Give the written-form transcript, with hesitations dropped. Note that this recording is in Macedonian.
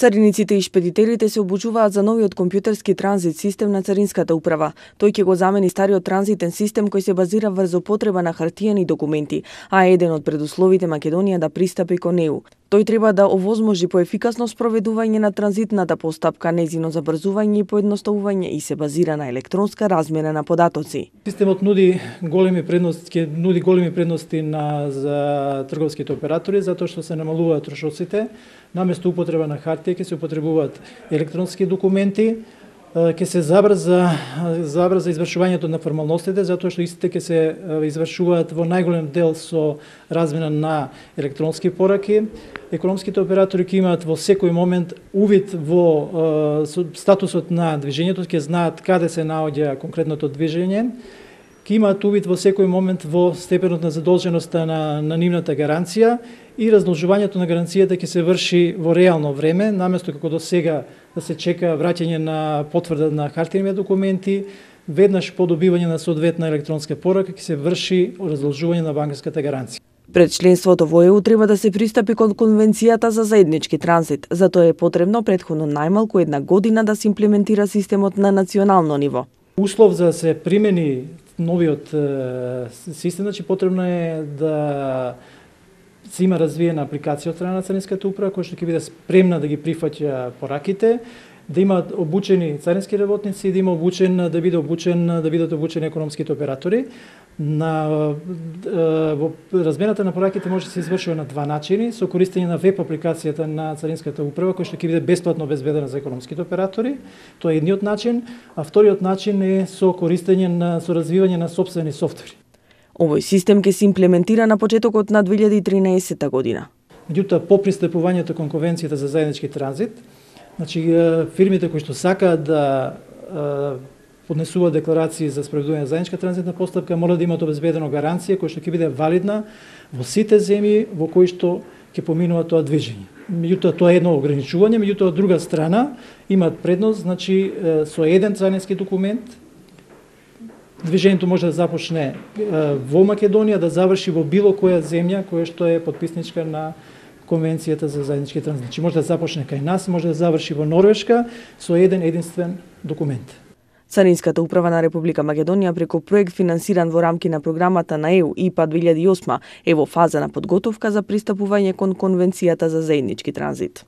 Цариниците и шпедитерите се обучуваат за новиот компјутерски транзит систем на Царинската управа. Тој ќе го замени стариот транзитен систем кој се базира врз употреба на хартиени документи, а е еден од предусловите Македонија да пристапи кон неу. Тој треба да овозможи поефикасно спроведување на транзитната постапка, нејзино забрзување и поедноставување и се базира на електронска размена на податоци. Системот нуди големи предности за трговските оператори затоа што се намалуваат трошоците, наместо употреба на хартија ќе се употребуваат електронски документи, ќе се забрза извршувањето на формалностите, затоа што истите ќе се извршуваат во најголем дел со размена на електронски пораки. Економските оператори ќе имаат во секој момент увид во статусот на движењето, ќе знаат каде се наоѓа конкретното движење, ќе имаат увид во секој момент во степенот на задолженоста на нивната гаранција и раздолжувањето на гаранцијата ќе се врши во реално време, наместо како до сега да се чека враќање на потврда на хартиени документи, веднаш по добивање на соодветна електронска порака ќе се врши раздолжување на банкарската гаранција. Пред членството во ЕУ треба да се пристапи кон Конвенцијата за заеднички транзит, затоа е потребно претходно најмалку 1 година да се имплементира системот на национално ниво. Услов за да се примени новиот систем, значи потребно е да се има развиена апликација од страна на Царинската управа, која што ќе биде спремна да ги прифаќа пораките, да имаат обучени царински работници и да бидат обучени економските оператори. Во размената на пораките може да се извршува на 2 начини, со користење на веб апликацијата на Царинската управа, која што ќе биде бесплатно обезбедена за економските оператори. Тоа е едниот начин, а вториот начин е со развивање на сопствени софтвери. Овој систем ќе се имплементира на почетокот на 2013 година. Меѓутоа, по пристапувањето кон Конвенцијата за заеднички транзит, значи фирмите кои што сакаат да поднесуваат декларации за спроведување на заедничка транзитна постапка мора да имаат обезбедено гаранција која што ќе биде валидна во сите земји во кои што ќе поминува тоа движење. Меѓутоа, тоа е едно ограничување, меѓутоа од друга страна имаат предност, значи со еден царински документ движењето може да започне во Македонија, да заврши во било која земја која што е потписничка на Конвенцијата за заеднички транзит. Значи може да започне кај нас, може да заврши во Норвешка со еден единствен документ. Царинската управа на Република Македонија преку проект финансиран во рамки на програмата на ЕУ ИПА 2008 е во фаза на подготовка за пристапување кон Конвенцијата за заеднички транзит.